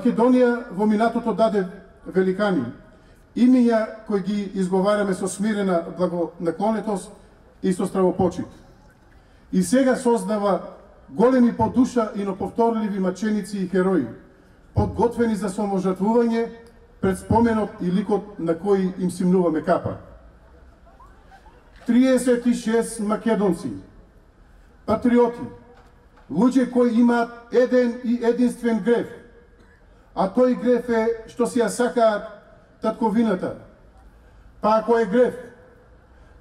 Македонија во минатото даде великани, имиња кои ги изговараме со смирена благонаклонетост и со стравопочит. И сега создава големи по душа и неповторливи маченици и херои, подготвени за саможртвување пред споменот и ликот на кој им симнуваме капа. 36 македонци, патриоти, луѓе кои имаат еден и единствен греф, а тој греф е што си ја сакаат татковината. Па ако е греф,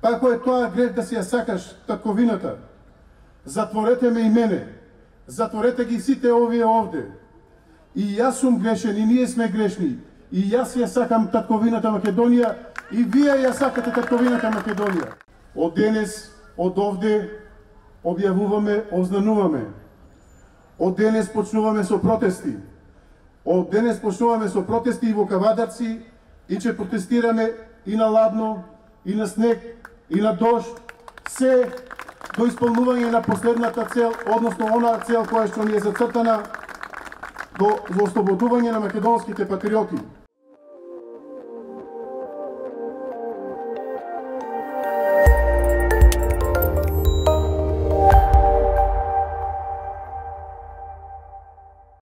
па ако е тоа греф да си ја сакаш татковината, затворете ме и мене, затворете ги сите овие овде. И јас сум грешен, и ние сме грешни, и јас ја сакам татковината Македонија, и вие ја сакате татковината Македонија. Од денес, од овде, објавуваме, ознануваме. Од денес почнуваме со протести. Од денес почнуваме со протести и во Кавадарци, и ќе протестираме и на ладно, и на снег, и на дожд, се до исполнување на последната цел, односно онаа цел која што ни е зацртана, до ослободување на македонските патриоти.